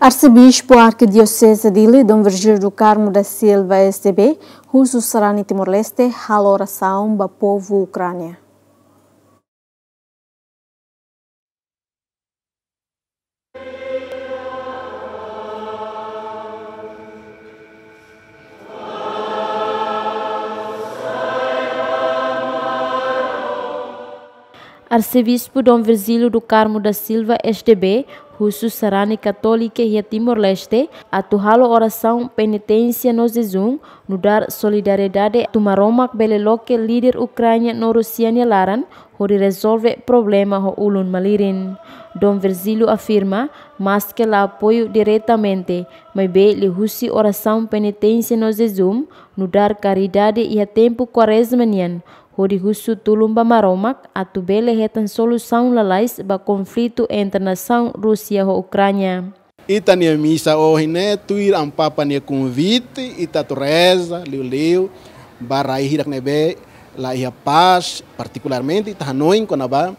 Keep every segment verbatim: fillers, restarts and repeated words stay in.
Arsebispu Arkidioseze Dili, Dom Virgílio do Carmo da Silva, S D B, husu sarani Timor-Leste halo orasaun ba povu Ukránia. Arsebispu Dom Virgílio do Carmo da Silva, S D B, husu sarani katólika iha Timor-Leste atu halo orasaun, peniténsia no jejún, nu'udar solidariedade atu Maromak bele loke líder Ukránia no Rúsia nia laran hodi rezolve problema ho ulun malirin. Dom Virgílio afirma, maske la apoiu diretamente, maibé liuhusi orasaun, peniténsia no jejún, nu'udar karidade iha tempu Kuarezma nian, hodi husu tulun ba Maromak atu bele hetan solusaun lalais ba konflitu entre nasaun Rúsia ho Ukránia. Ita-nia misa ohin ne'e tuir Amu Papa nia konvite, ita atu reza liuliu ba rai hirak ne'ebé la iha pás, partikularmente ita hanoin kona-ba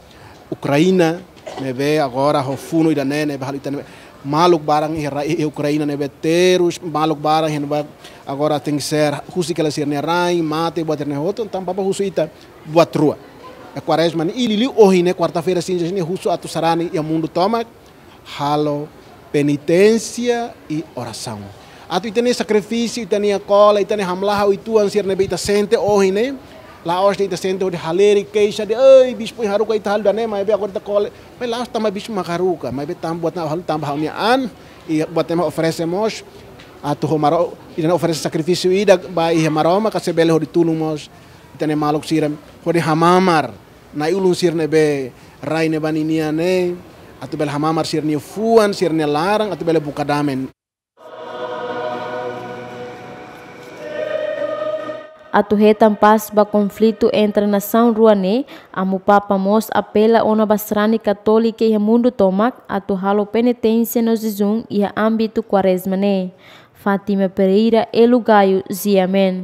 Ukraina ne'ebé agora ho funu ida-ne'e, ne'ebé halo ita ne'ebé maluk barak iha rai, iha Ukraina ne'ebé terus, maluk barak iha ne'ebá agora tenkesér husik hela sira-nia rain, mate, buat ne'e hotu, entaun Papa husu ita buat rua. Iha Kuarezma ne'e, liuliu ohin ne'e, kuarta-feira sinja ne'e, husu atu sarani iha mundu tomak halo peniténsia i orasaun. Atu ita-nia sakrifísiu, ita-nia kola, ita-nia hamlaha uitoan sira ne'ebé ita sente ohin ne'e, la'ós de'it ita sente hodi halerik, keixa de'it, "Ei, bispu, haruka ita halo ida-ne'e, maibé agora ita ko'alia." Maibé la'ós tanba bispu mak haruka, maibé tanba buat ne'e ha'u halo tanba ha'u-nia an, i buat ne'e mak oferese mós, atu ho Maro-, ita-nia oferese sakrifísiu ida ba iha Maromak, ka sei bele hodi tulun mós ita-nia maluk sira, hodi hamamar na'i-ulun sira ne'ebé rai ne'ebá ninian ne'e, atu bele hamamar sira-nia fuan, sira-nia laran, atu bele buka dame. Atu hetan pás ba konflitu entre nasaun rua ne'e, Amu Papa mós apela ona ba sarani katólika iha mundu tomak atu halo peniténsia no jejún iha ámbitu Kuarezma ne'e. Fátima Pereira, Elu Gayo, G M N.